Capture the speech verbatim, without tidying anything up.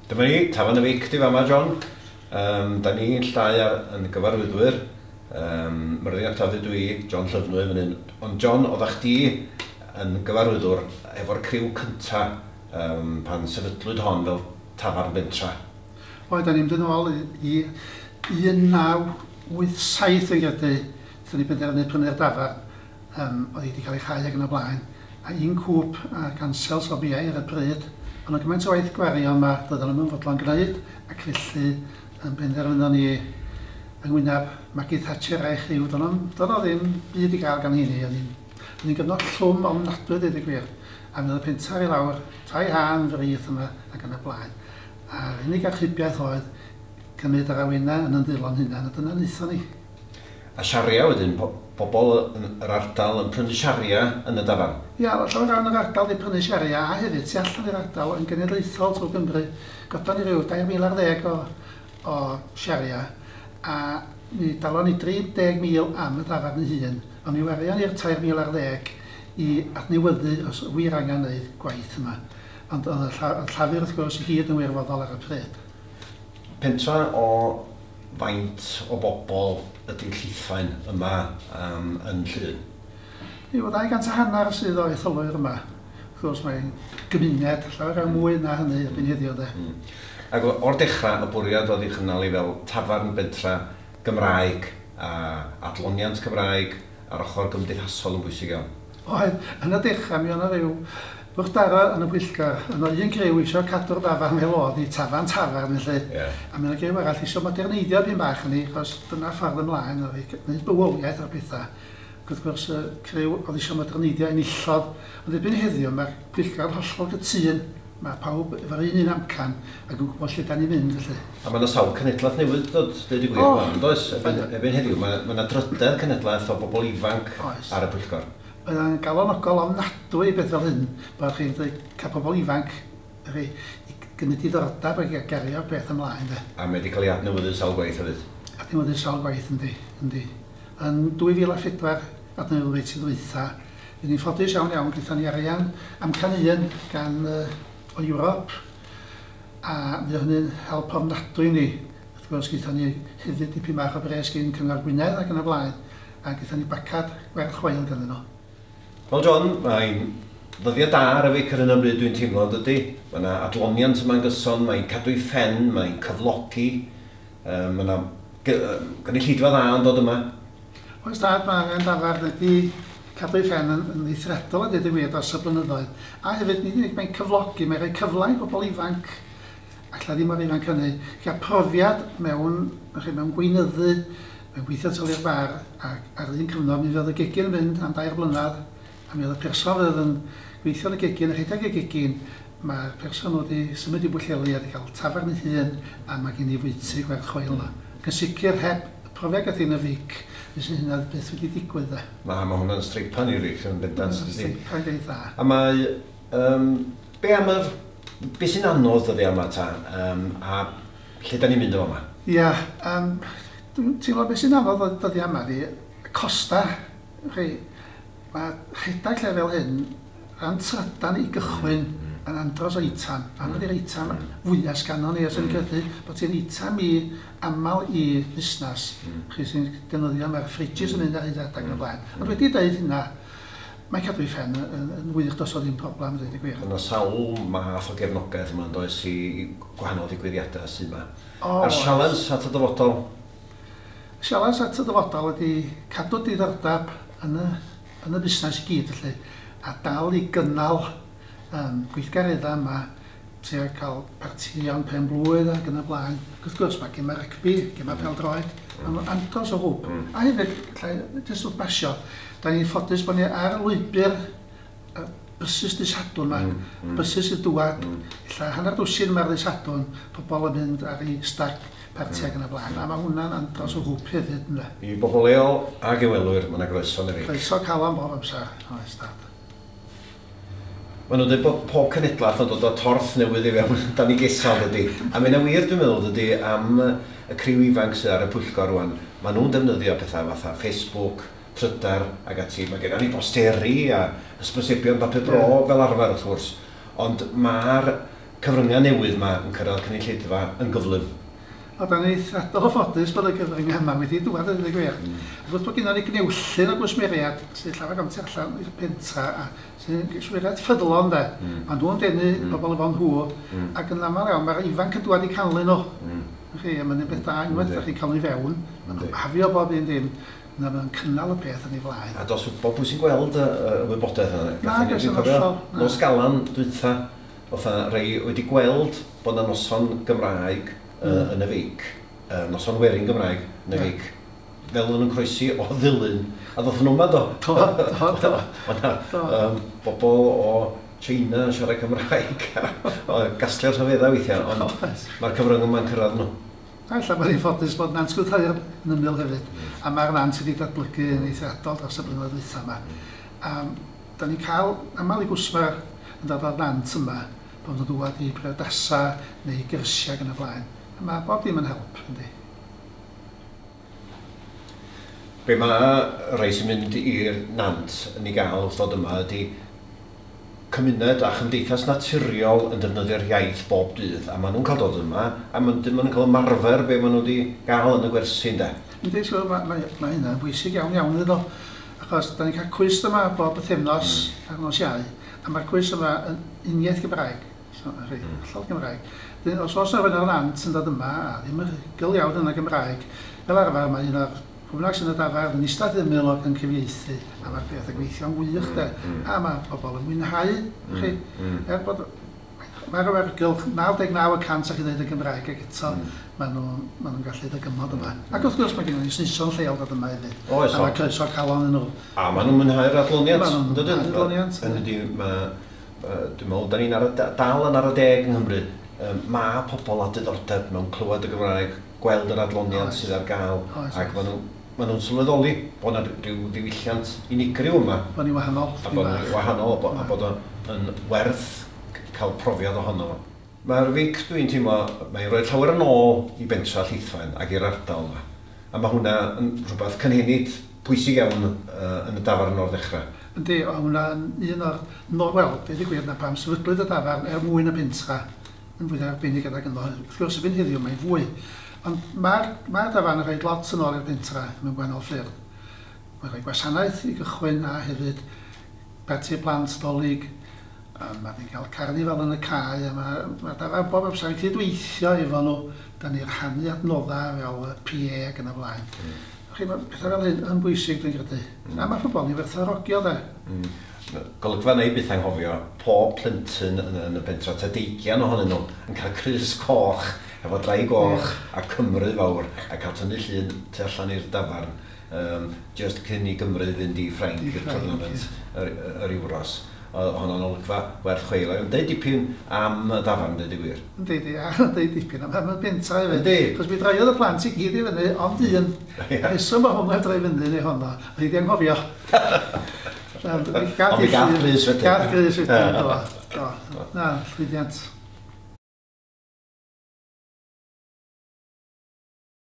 Dyma ni, Tafarn y Fic di fama, John. Um, da ni'n llai ar, yn gyfarwyddwyr. Um, Myrddin ap Dafydd dwi, John Llyfnwy fan hyn. Ond John, oeddach chdi yn gyfarwyddwr efo'r criw cynta um, pan sefydlwyd hon fel tafarn bentra. Oedd, da ni'n mynd yn ôl i un naw wyth saith yn credu, wnaethon ni benderfynu prynu'r dafarn. Um, oedd hi wedi cael ei chau ac yn y blaen. A un cwp a gansel so biau ar y pryd. Ond oedd gymaint o waith gwario yma, doedden nhw'n fodlon gwneud, ac felly yn benderfynon ni yng ngwyneb Maggie Thatcher a'i chriw, doedd o ddim byd i gael gan hynny. Oedd hi'n gyfnod llwm ofnadwy, dweud y gwir. A mi oedd y pentar i lawr, tai haen frith yma ac yn y blaen. A'r unig archubiaeth oedd cymryd yr awenau yn ymddilon hunan, a dyna wnaethon ni. A siaria wedyn, po pobl yn yr ardal yn prynu siaria yn y dafarn? Ia, llawer iawn o'r ardal wedi prynu siaria, a hefyd tu allan i'r ardal yn genedlaethol trwy Gymru. Godon ni ryw dair mil ar ddeg o, o siaria, a mi dalon ni dri deg mil am y dafarn ei hun, ond mi warion ni'r tair mil ar ddeg i adnewyddu os wir angen wneud gwaith yma. Ond oedd y llafur wrth gwrs i gyd yn wirfoddol ar y pryd. Pentra o faint o bobl ydy Llithfaen yma um, yn Llŷn? Yw, dau gant a hanner sydd o etholwyr yma. Wrth gwrs mae'n gymuned, llawer iawn mwy na hynny erbyn heddiw de. Mm. Ac o'r dechrau, y bwriad oedd ei chynnal i fel tafarn bentra Gymraeg a adloniant Cymraeg a'r ochr gymdeithasol yn bwysig iawn. Oedd, yn y dechrau mi oedd rhyw wrthdaro yn y pwyllgor. Yno un criw eisiau cadw'r dafarn fel oedd i tafarn tafarn felly. Yeah. A mi oedd criw arall eisiau moderneiddio pyn bach yn ei, achos dyna ffordd ymlaen oedd i gwneud bywoliaeth o'r pethau. Ac wrth gwrs y criw oedd eisiau moderneiddio enillodd. Ond erbyn heddiw mae'r pwyllgor hollol gytûn. Mae pawb efo'r un un amcan ac yn gwybod lle da ni'n mynd felly. A mae yna sawl cenedlaeth newydd dod, dweud y gwir, oh, oh, does? Erbyn, erbyn heddiw, mae yna drydedd cenedlaeth o bobl ifanc oes ar y pwyllgor. Oedd yn galonogol ofnadwy beth fel hyn, bod chi'n cael pobl ifanc i gymryd diddordeb ac i gario'r beth ymlaen. De. A mae wedi cael ei adnewyddu sawl gwaith hefyd? Adnewyddu sawl gwaith, yndi. Yndi. Yn dwy fil a phedwar adnewyddwyd sydd ddwytha. Fy ni'n ffodus iawn iawn, gyda ni arian amcan un gan uh, o Ewrop, a mi oedd hynny'n help ofnadwy ni. Wrth gwrs, gyda ni hefyd dipyn bach o bres gyn Cyngor Gwynedd ac yn y blaen, a gyda ni bacad gwerth chweil ganddyn nhw. Wel John, mae'n ddyddiau da ar y Fic ar hyn o bryd dwi'n teimlo, dydy. Mae yna adloniant yma'n gyson, mae'n cadw ei phen, mae'n cyflogi, um, mae yna gynulleidfa dda yn dod yma. Oes dad, mae angen dafarn wedi cadw ei phen yn, yn eithriadol a dweud y gwir dros y blynyddoedd. A hefyd, nid unig mae'n cyflogi, mae'n rhoi cyfle i bobl ifanc, alla ddim o'r ifanc hynny, gael profiad mewn, mewn gweinyddu, mewn gweithio tylu'r bar, ac ar un cyfnod mi fydd y gegin yn mynd am dair blynedd, a mi oedd y person fydd yn gweithio yn y gegin, yn rhedeg y gegin, mae'r person wedi symud i Bwllheli a wedi cael tafarn ei hun, a mae gen i fwyty gwerth chweil yna. Ac yn sicr heb y profiad gath hi'n y Fic, fysa hynna byth wedi digwydd de. Ma, mae hwnna'n streipan i'r Fic yn bendant. Streipan greu dda. A mae, um, be am yr, be sy'n anodd dyddi yma ta, um, a lle da ni'n mynd o yma? Ia, um, dwi'n teimlo be sy'n anodd dyddi yma di, costa, chi, mae rhedeg lle fel hyn, ran trydan i gychwyn yn andros o eitam. Anodd i'r eitam fwyaf sganno ni, os ydyn credu bod ti'n eitam i aml i busnes. Chi sy'n defnyddio, mae'r fridges yn mynd ar hyd adag yn y blaen. Ond wedi dweud hynna, mae cadw ei phen yn, yn wych, does o ddim problem, dweud y gwir. Yna sawl math o gefnogaeth yma yn does i, i gwahanol ddigwyddiadau sydd yma. O, A'r sialens at y dyfodol? Sialens at y dyfodol ydy cadw diddordeb yn y yn y busnes i gyd felly, a dal i gynnal um, gweithgareddau yma, tua cael partïon pen blwydd ac yn y blaen. Ac wrth gwrs mae gemau rygbi, gemau pêl-droed, mm. andros o hwb. Mm. A hefyd, llai, jyst wrth basio, da ni'n ffodus bod ni ar lwybr y bysus dydd Sadwrn yma, mm. Mm. bysus y dŵad, mm. ella hanner dwsin yma ar ddydd Sadwrn, pobl yn mynd ar ei stag parti ac yn y blaen, a mae hwnna'n andros o hwb hefyd, ynde. I bobl leol ag ymwelwyr, mae yna groeso yn y Fic. Croeso calon bob amser, oes dad. Maen nhw'n dweud bod pob cenedlaeth yn dod o torth newydd i fewn dan ei gesal, dydy. A mae'n wir, dwi'n meddwl, dydy, am y criw ifanc sydd ar y pwyllgor rwan. Maen nhw'n defnyddio pethau fatha Facebook, Trydar ac ati. Mae gennym ni bosteri a hysbysebion papur bro yeah. fel arfer, wrth gwrs. Ond mae'r cyfryngau newydd yma yn cyrraedd cynulleidfa yn gyflym. O, da ni eithriadol o ffodus bod y cyfryngau yma wedi dŵad yn y gwir. Mm. Wrth bod gennym ni gnewyllyn o gwsmeriad sy'n llawer am tu allan i'r pentra a sy'n gwsmeriad ffyddlon de. Mm. Maen nhw'n denu mm. bobl efo nhw mm. ac yn aml iawn mae'r ifanc yn dŵad i canlyn nhw. Mm. Chi, a mae'n un beth da unwaith ydych chi'n cael nhw i fewn, maen nhw'n hafio bob un dim, na maen nhw'n cynnal y peth yn ei flaen. A dos bob pwy sy'n gweld y, y wybodaeth yna? Na, gos yn hollol. Nos Galan dwytha, oedd rei wedi gweld bod yna noson Gymraeg mm. yn y Feic, uh, noson werin Gymraeg yn y yeah. Feic, fel o'n nhw'n croesi o Ddulyn, a ddoth nhw yma do. Do, do, do. O'na um, bobl o China yn siarad Cymraeg, a gasgliad rhyfeddau weithiau, ond mae'r cyfrwng yma'n cyrraedd nhw. A ella bod ni'n ffodus bod Nant Gwrtheyrn yn ymyl hefyd, a mae'r nant wedi datblygu yn eithriadol dros y blynyddoedd dwytha yma. A da ni'n cael aml i gwsmer yn dod o'r nant yma, bod nhw'n dŵad i briodasa neu i gyrsiau ac yn y blaen. A mae bob dim yn help, yndi. Be mae rhai sy'n mynd i'r nant yn ei gael wrth ddod yma ydy cymuned a chymdeithas naturiol yn defnyddio'r iaith bob dydd, a maen nhw'n cael dod yma, a maen nhw'n cael ymarfer be maen nhw wedi gael yn y gwersi, ynde? Yndi, so, mae, mae, mae hynna'n bwysig iawn iawn iddyn nhw, achos da ni'n cael cwis yma bob pythefnos mm. ar nos Iau, a mae'r cwis yma yn uniaith Gymraeg, so, rhai, mm. hollol Gymraeg. Dyn, os oes yna rhywun o'r nant yn dod yma, a ddim yn rhugl iawn yn y Gymraeg, fel arfer mae un o'r pwy bynnag sy'n y dafarn yn eistedd ymyl ac yn cyfieithu, a mae'r peth yn gweithio'n wych de, mm. a mae pobl yn mwynhau, mm. chi, mm. er bod mae'r awyrgylch naw deg naw y cant a chi ddeud y Gymraeg ac eto mm. maen nhw'n ma nhw gallu dygymod yma. Mm. Ac wrth gwrs mae gennym ni Saeson lleol dod yma hefyd. Oes, a mae croeso calon yn nhw. A maen nhw'n mwynhau'r adloniant. Maen nhw'n mwynhau'r adloniant. Yn ydy, mae, dwi'n meddwl, da ni'n ar y, dal yn ar y deg yng Nghymru. Mae pobl â diddordeb mewn clywed y Gymraeg, gweld yr adloniant oes. Sydd ar gael, oes, ac maen nhw'n maen nhw'n sylweddoli bod yna rhyw ddiwylliant unigryw yma. Bod ni'n wahanol. A bod ni'n wahanol, a bod o'n werth cael profiad ohono fo. Mae'r Feic, dwi'n teimlo, mae'n rhoi llawer yn ôl i bentra Llithfaen ac i'r ardal yma. A mae hwnna yn rhywbeth cynhenid pwysig iawn uh, yn y dafarn o'r ddechrau. Yndi, o hwnna'n un o'r, no, wel, deud y gwir na pam sefydlwyd y dafarn er mwyn y pentra yn fwy arbennig adag ynddo. Wrth gwrs, erbyn heddiw mae'n fwy. Ond mae'r mae dafarn yn rhoi lot yn ôl i'r pentra mewn gwahanol ffyrdd. Mae'n rhoi gwasanaeth i gychwyn a hefyd parti plant Dolig. Mae ni'n cael carnifal yn y cae, a mae, mae dafarn bob amser yn cydweithio efo nhw. Da ni'n rhannu adnoddau fel P A ac yn y blaen. Mm. Chi, mae pethau fel hyn yn bwysig, dwi'n credu. Mm. A mae pobl ni'n werthfawrogio, de. Mm. Golygfa neu byth anghofio, pob plentyn yn, yn y pentra, ta deigian ohonyn nhw, yn cael crys coch, efo draig goch yeah. a Cymru fawr, a cael tynnu llun tu allan i'r dafarn, um, just cyn i Gymru fynd i Ffrainc i'r tournament, yr, yr Euros. Oedd honno'n olygfa werth chweil. Yn deud dipyn am y dafarn, deud y gwir. Yndi, di, a deud dipyn am y pentra hefyd. Yndi. Chos mi draiodd y plant i gyd i fyny, ond un. Rheswm o hwnna droi fyny neu honno, oedd hi di anghofio. Ond mi gath grys wedyn. Gath grys wedyn, do. Do. Na, llwyddiant.